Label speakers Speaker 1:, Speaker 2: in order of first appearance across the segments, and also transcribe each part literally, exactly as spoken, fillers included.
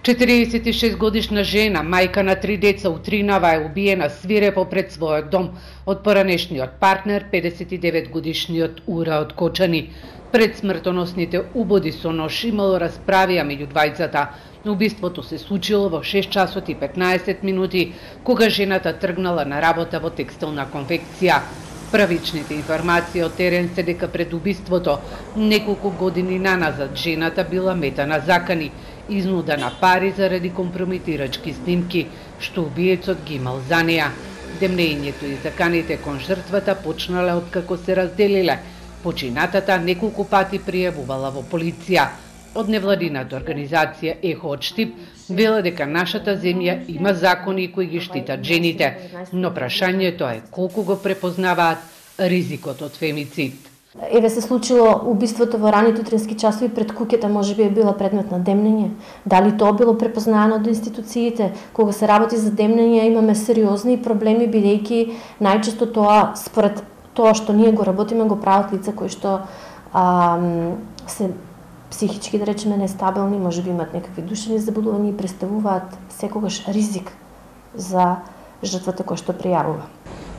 Speaker 1: четириесет и шест годишна жена, мајка на три деца, Утринава е убиена свирепо пред својот дом од поранешниот партнер, педесет и девет годишниот Ура од Кочани. Пред смртоносните убоди со нож имало расправија меѓу двајцата. Убиството се случило во шест часот и петнаесет минути, кога жената тргнала на работа во текстилна конфекција. Правичните информации од терен се дека пред убиството, неколку години наназад, жената била мета на закани, изнуда на пари заради компромитирачки снимки, што убиецот ги имал за неа. Демнењето и заканите кон жртвата почнале откако се разделиле. Починатата неколку пати пријавувала во полиција. Од невладината организација Ехо од Штип вела дека нашата земја има закони кои ги штитат жените, но прашањето е колку го препознаваат ризикот од фемицид.
Speaker 2: Еве се случило убиството во раните утрински часови пред куќата, можеби е била предмет на демнење. Дали тоа било препознаено од институциите? Кога се работи за демнење имаме сериозни проблеми, бидејќи најчесто тоа според тоа што ние го работиме го прават лица кои што а, се психички, да речеме, нестабилни, можеби имат некакви душевни заболувања и представуваат секогаш ризик за жртвата која што пријавува.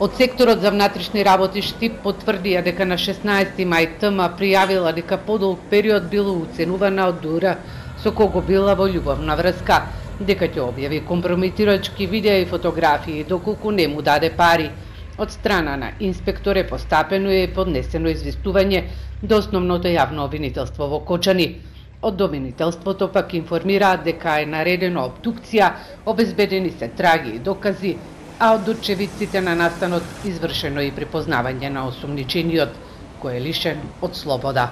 Speaker 1: Од секторот за внатрешни работи Штип потврдија дека на шеснаесети мај ТМ пријавила дека подолг период била уценувана од Ура, со кого била во љубовна врска, дека ќе објави компромитирачки видеа и фотографии доколку не му даде пари. Од страна на инспектор е постапено и поднесено известување до основното јавно обвинителство во Кочани. Од обвинителството пак информираат дека е наредено обдукција, обезбедени се траги и докази, а од очевидците на настанот извршено и припознавање на осумничениот, кој е лишен од слобода.